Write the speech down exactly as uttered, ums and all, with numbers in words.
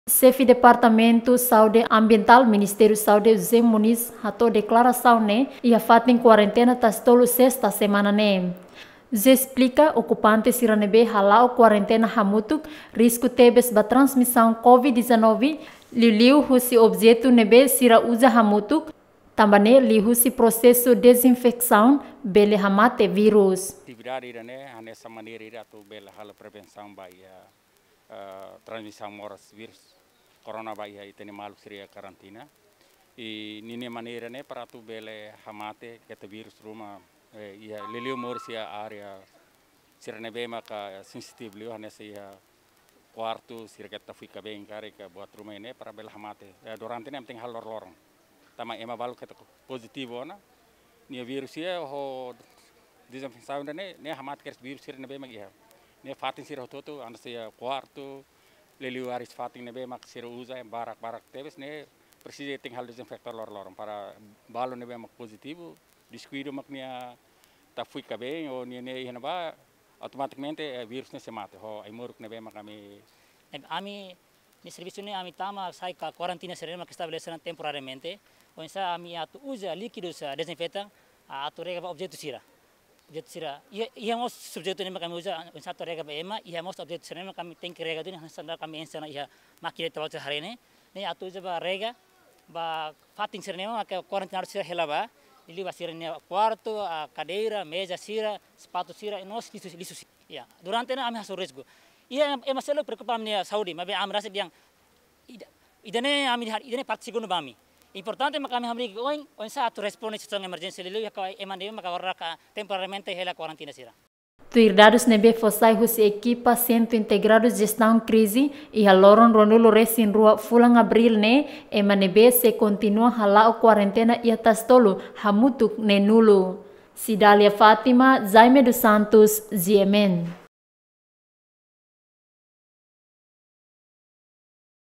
Xefe Departamentu Saúde Ambientál Ministériu Saúde José Moniz hato'o deklarasaun ne'e iha fatin kuarentena Tasi Tolu sesta semana ne'e. José esplika, okupante sira ne'ebé hala'o kuarentena hamutuk risku tebes ba transmisaun covid dezanove, liuliu husi objetu ne'ebé sira uza hamutuk, tanba ne'e liuhusi prosesu dezinfesaun bele hamate vírus. Atividade ida-ne'e hanesan maneira ida atu bele halo prevensaun ba iha, eh, transmisaun moras vírus corona ba iha ita-nia maluk sira iha karantina. I ninia maneira ne'e para atu bele hamate keta vírus ruma, eh, iha liuliu moris iha área sira ne'ebé maka sensitivu liu hanesan iha kuartu, sira keta fika bem karik buat ruma ne'e para bele hamate. Eh, durante ne'e tenke halo loroloron. Tanba ema balu keta pozitivu ona, nia vírus iha ho dezinfesaun ne'e, ne'e hamate kedas vírus sira ne'ebé mak iha. Ne'e fatin sira hotu-hotu, hanesan iha kuartu, liuliu áreas fatin ne'ebé mak sira uza, barak-barak tebes, ne'e presiza tenke halo dezinfeta loroloron para balu ne'ebé mak pozitivu, diskuidu mak nia tafika bem, ou nia, nia iha ne'ebá, automatikamente, eh, vírus ne'e sei mate, ho ai-moruk ne'ebé mak ami. Ami, ami-nia servisu ne'e ami tama sai ka kuarentena sira ne'ebé mak estabelese ona temporariamente, oinsá ami atu uza líkidu sa dezinfeta, a, atu rega ba objetu sira. Objetu sira, iha, iha mós subjetu ne'ebé mak ami uza, oinsá atu rega ba ema, iha mós objetu sira ne'ebé mak ami tenke rega duni, hanesan ida ami enxe ona iha mákina ita-boot sira haree ne'e, ne'e atu uza ba rega, ba fatin sira ne'ebé mak kuarentenadu sira hela ba, liuliu ba sira-nia kuartu, a, kadeira, meza sira, sapatu sira, i mós lixu, lixu sira. Ya, durante ne'e ami hasoru risku. Iha ema, ema seluk preokupa ami-nia saúde, maibé ami rasik dehan ida, ida-ne'e ami har-, ida-ne'e parte segundu ba ami. Importante mak ami hamriik oin, oinsá atu responde situasaun emerjénsia liuliu iha ema ne'ebé mak agora ka temporariamente hela kuarentena sira. Tuir dadus ne'ebé fó sai husi ekipa Sentru Integradu Jestaun Krize, iha loron ruanulu-resin-rua fulan Abríl ne'e, ema ne'ebé sei kontinua hala'o kuarentena iha Tasi Tolu hamutuk neenulu. Cidália Fátima, Jaime dos Santos, G M N.